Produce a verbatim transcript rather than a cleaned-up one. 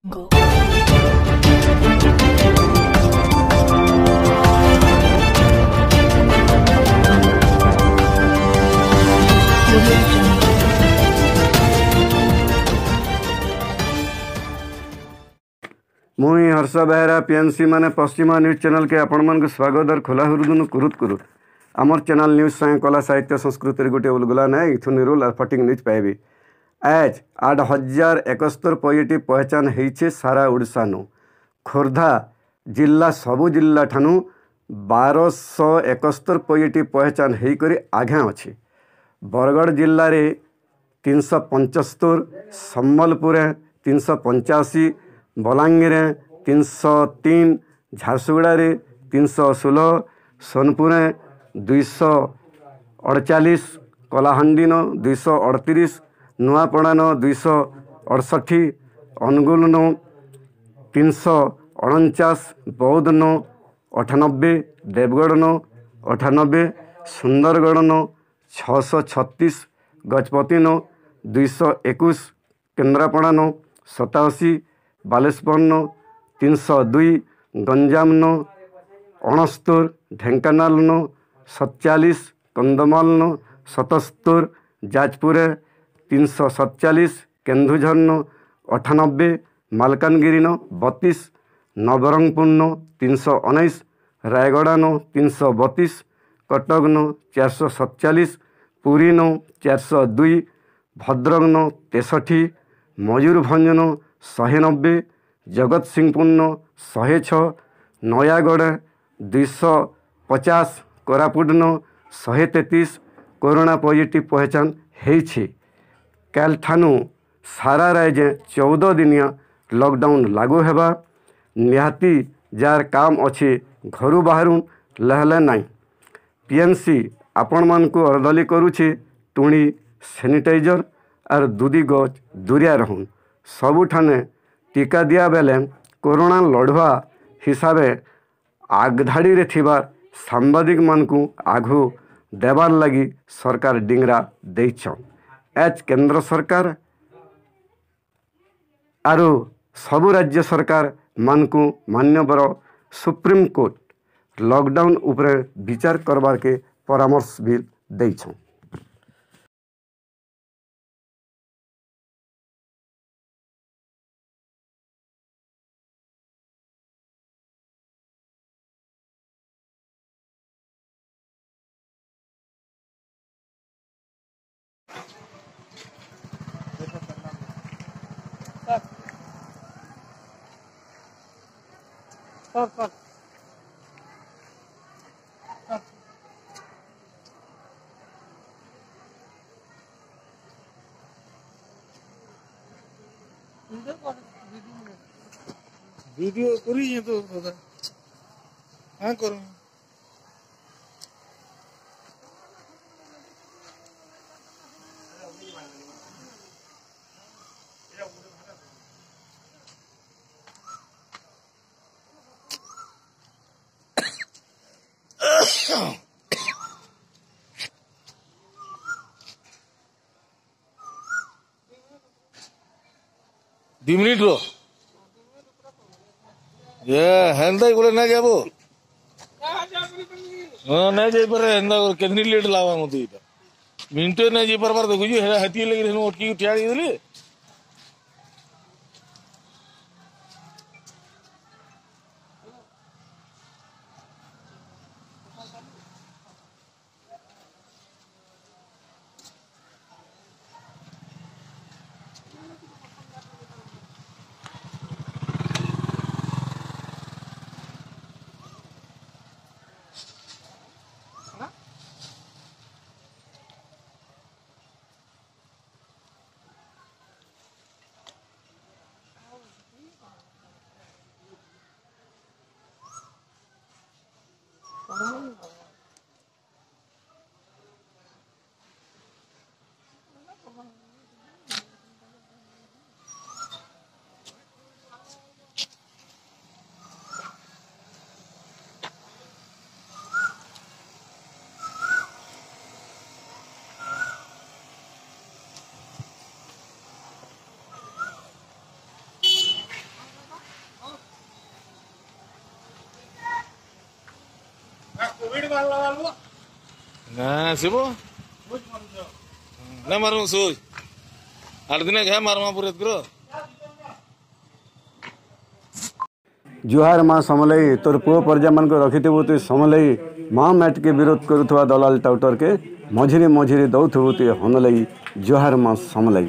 ମୁଇଁ ହର୍ଷ ବେହେରା, ପିଏନ୍ସି ମାନେ ପଶ୍ଚିମା ନ୍ୟୁଜ୍ ଚ୍ୟାନେଲକେ ଆପଣମାନଙ୍କୁ ସ୍ୱାଗତ ଆର ଖୋଲା ହୃଦୟରୁ କୁରୁତ କୁରୁତ। ଆମର ଚ୍ୟାନେଲ ନ୍ୟୁଜ୍ ସାଙ୍ଗେ କଲା, ସାହିତ୍ୟ, ସଂସ୍କୃତିରେ ଗୋଟେ ଉଲଗୁଲା ନାଇଁ, ଇଥୁ ନିରୁଲ ଆର ଫଟିକ୍ ନ୍ୟୁଜ୍ ପାଇବେ। ଆଜ ଆଠ ହଜାର ଏକସ୍ତର ପଜିଟିଭ ପହଚାନ ହେଇଛେ ସାରା ଓଡ଼ିଶାନୁ। ଖୋର୍ଦ୍ଧା ଜିଲ୍ଲା ସବୁ ଜିଲ୍ଲାଠାନୁ ବାରଶହ ଏକସ୍ତର ପଜିଟିଭ ପହଚାନ ହେଇକରି ଆଘେ ଅଛି। ବରଗଡ଼ ଜିଲ୍ଲାରେ ତିନିଶହ ପଞ୍ଚସ୍ତର, ସମ୍ବଲପୁରରେ ତିନିଶହ ପଞ୍ଚାଅଶୀ, ବଲାଙ୍ଗୀରରେ ତିନିଶହ ତିନି, ଝାରସୁଗୁଡ଼ାରେ ତିନିଶହ ଷୋହଳ, ସୋନପୁରରେ ଦୁଇଶହ ଅଠଚାଳିଶ, କଳାହାଣ୍ଡିନ ଦୁଇଶହ ଅଠତିରିଶ, ନୂଆପଡ଼ାନ ଦୁଇଶହ ଅଠଷଠି, ଅନୁଗୁଳନ ତିନିଶହ ଅଣଚାଶ, ବୌଦ୍ଧନ ଅଠାନବେ, ଦେବଗଡ଼ନ ଅଠାନବେ, ସୁନ୍ଦରଗଡ଼ନ ଛଅଶହ ଛତିଶ, ଗଜପତିନ ଦୁଇଶହ ଏକୋଇଶ, କେନ୍ଦ୍ରାପଡ଼ାନ ସତାଅଶୀ, ବାଲେଶ୍ୱରନ ତିନିଶହ ଦୁଇ, ଗଞ୍ଜାମନ ଅଣସ୍ତର, ଢେଙ୍କାନାଳନ ସତଚାଳିଶ, କନ୍ଧମାଳନ ସତସ୍ତର, ଯାଜପୁରରେ ତିନିଶହ ସତଚାଳିଶ, କେନ୍ଦୁଝରନ ଅଠାନବେ, ମାଲକାନଗିରିନ ବତିଶ, ନବରଙ୍ଗପୁରନ ତିନିଶହ ଉଣେଇଶ, ରାୟଗଡ଼ାନ ତିନିଶହ ବତିଶ, କଟକନ ଚାରିଶହ ସତଚାଳିଶ, ପୁରୀନ ଚାରିଶହ ଦୁଇ, ଭଦ୍ରକନ ତେଷଠି, ମୟୂରଭଞ୍ଜନ ଶହେ ନବେ, ଜଗତସିଂହପୁରନ ଶହେ ଛଅ, ନୟାଗଡ଼ ଦୁଇଶହ ପଚାଶ, କୋରାପୁଟନ ଶହେ ତେତିଶ କରୋନା ପଜିଟିଭ ପହଚାନ ହେଇଛି। କାଲିଠାନୁ ସାରା ରାଜ୍ୟରେ ଚଉଦ ଦିନିଆ ଲକଡାଉନ ଲାଗୁ ହେବା। ନିହାତି ଯାର କାମ ଅଛି, ଘରୁ ବାହାରୁନ୍, ଲେହେଲେ ନାଇଁ। ପିଏନ୍ସି ଆପଣମାନଙ୍କୁ ଅରଦଲି କରୁଛି, ଟୁଣି ସାନିଟାଇଜର ଆର୍ ଦୁଦି ଗଜ ଦୂରିଆ ରହୁନ୍। ସବୁଠାନେ ଟିକା ଦିଆ ବେଲେ କରୋନା ଲଢ଼ୁଆ ହିସାବେ ଆଗଧାଡ଼ିରେ ଥିବା ସାମ୍ବାଦିକମାନଙ୍କୁ ଆଘୁ ଦେବାର ଲାଗି ସରକାର ଡିଙ୍ଗରା ଦେଇଛନ୍। ଏଚ୍ କେନ୍ଦ୍ର ସରକାର ଆରୁ ସବୁ ରାଜ୍ୟ ସରକାରମାନଙ୍କୁ ମାନ୍ୟବର ସୁପ୍ରିମକୋର୍ଟ ଲକଡାଉନ ଉପରେ ବିଚାର କରବାରକେ ପରାମର୍ଶ ବି ଦେଇଛନ୍। ଭିଡ଼ିଓ କରିଛେ ତ ଦାଦା। ହଁ, କର। ଦି ମିନିଟ୍ ର। ଏ, ହେନ୍ତା ଇ ବୋଲେ ନାଇଁ ଯାବୋ। ହଁ, ନାଇଁ ଯାଇପାରେ, ହେନ୍ତା କରି କେତନି ଲେଟ୍ ଲାଗ୍ବା ମତେ ଇଟା। ମିନିଟେ ନାଇଁ ଯାଇପାରବାର ଦେଖୁଛୁ, ହେଟା ହେତିକି ଲାଗି ହେନୁ ଅଟକି ଠିଆ ହେଇଗଲି। ନା, ଆସିବ। ନା, ମାରମୁ ସୁଜ। ଆଠ ଦିନ ଘେ ମାରମା ପୁରେତ କର। ଜୁହାର ମା ସମଲେଇ, ତୋର ପୁଅ ପରଜାମାନଙ୍କୁ ରଖିଥିବୁ ତୁଇ ସମଲେଇ। ମା ମ୍ୟାଟକେ ବିରୋଧ କରୁଥିବା ଦଲାଲ ଟାଉଟରକେ ମଝିରେ ମଝିରେ ଦଉଥିବୁ ତୁଇ ହନଲେଇ। ଜୁହାର ମା ସମଲେଇ।